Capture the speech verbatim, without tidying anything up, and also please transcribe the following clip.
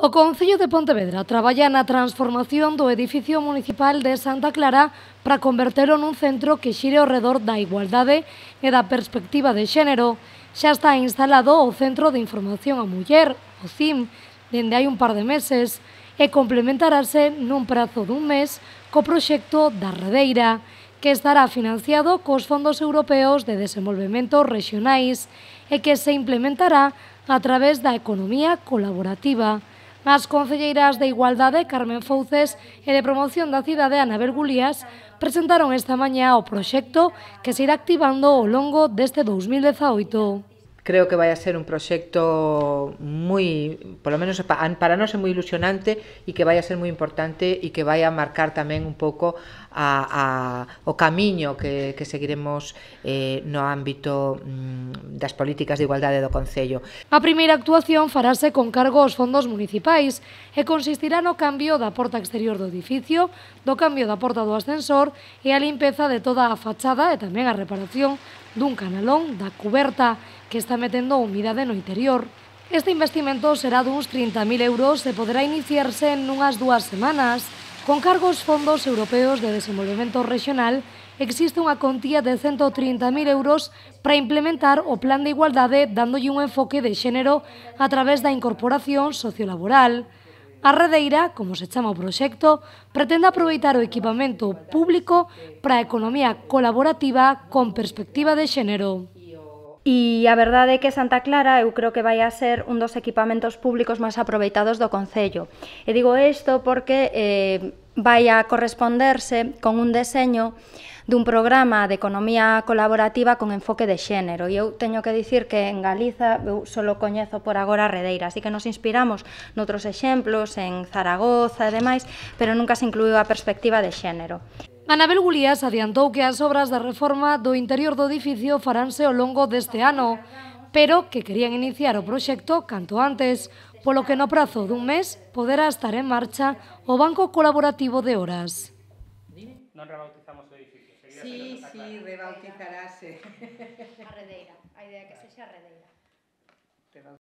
O Concello de Pontevedra traballa na transformación do edificio municipal de Santa Clara para convertelo nun centro que xire ao redor da igualdade e da perspectiva de xénero. Xa está instalado o Centro de Información á Muller, o C I M, dende hai un par de meses, e complementarase nun prazo dun mes co proxecto da Redeira, que estará financiado cos fondos europeos de desenvolvemento rexionais e que se implementará a través da economía colaborativa. As concelleiras de Igualdade, Carmen Fouces, e de Promoción da Cidade, Anabel Gulías, presentaron esta mañá o proxecto que se irá activando ao longo deste dous mil dezaoito. Creo que vai a ser un proxecto moi, polo menos para nós é moi ilusionante e que vai a ser moi importante e que vai a marcar tamén un pouco a, a, o camiño que, que seguiremos eh, no ámbito mm, das políticas de igualdade do Concello. A primeira actuación farase con cargo aos fondos municipais e consistirá no cambio da porta exterior do edificio, do cambio da porta do ascensor e a limpeza de toda a fachada e tamén a reparación dun canalón da cuberta que está metendo humidade no interior. Este investimento será duns trinta mil euros e poderá iniciarse nunhas dúas semanas. Con cargo aos fondos europeos de desenvolvemento rexional, existe unha contía de cento trinta mil euros para implementar o plan de igualdade dándolle un enfoque de xénero a través da incorporación sociolaboral. A Redeira, como se chama o proxecto, pretende aproveitar o equipamento público para a economía colaborativa con perspectiva de xénero. E a verdade é que Santa Clara eu creo que vai a ser un dos equipamentos públicos máis aproveitados do Concello. E digo isto porque eh, vai a corresponderse con un deseño dun programa de economía colaborativa con enfoque de xénero. E eu teño que dicir que en Galiza eu solo coñezo por agora a Redeira, así que nos inspiramos noutros exemplos, en Zaragoza e demais, pero nunca se incluiu a perspectiva de xénero. Anabel Gulías adiantou que as obras de reforma do interior do edificio faránse ao longo deste ano, pero que querían iniciar o proxecto canto antes, polo que no prazo dun mes poderá estar en marcha o Banco Colaborativo de Horas. Non rebautizamos o edificio. Sí, sí, rebautizarase. A Redeira, a idea é que sexa a Redeira.